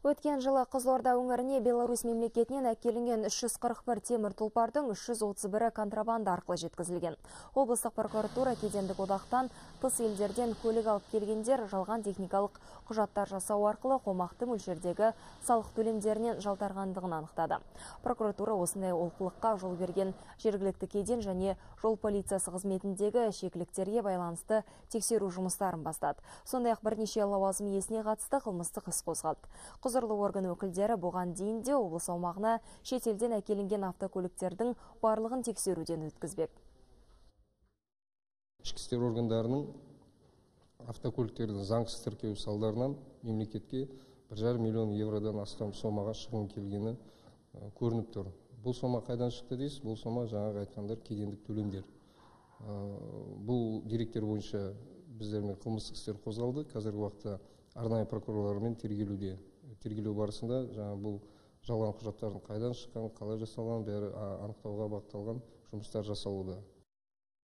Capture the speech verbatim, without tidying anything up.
Өткен жылы Қызылорда өңіріне Беларусь мемлекетінен әкелінген үш жүз қырық бір темір тұлпардың үш жүз отыз бірі контрабанда арқылы жеткізілген. Облыстық прокуратура кедендік одақтан тыс елдерден көлік алып келгендер жалған техникалық құжаттар жасау арқылы қомақты мөлшердегі салық төлемдерінен жалтарғандығын анықтады. Прокуратура осындай олқылыққа жол берген жергілікті кеден және жол полициясы қызметіндегі шекіліктерге байланысты тексеру жұмыстарын бастады. Сондай-ақ бірнеше лауазым иесіне қатысты қылмыстық іс қозғалды. Құзырлы орган өкілдері бұған дейін де облыс аумағына шетелден әкелінген автокөліктердің барлығын тексеруден өткізбек. Ішкі істер органдарының автокөліктердің заңсыз тіркеу салдарынан мемлекетке бір жарым миллион евродан астам сомаға шығын келгені көрініп тұр. Бұл сома қайдан шықты дейсіз? Бұл сома жаңағы айтқандар кедендік төлемдер. Бұл деректер бойынша біздермен қылмыстық істер қозғалды. Қазіргі уақытта арнайы прокурорлармен тергелуде. Тергелу барысында жаңа бұл жалған құжаттардың қайдан шыққан, қалай жасалған, бәрі анықтауға бағытталған жұмыстар жасалуда.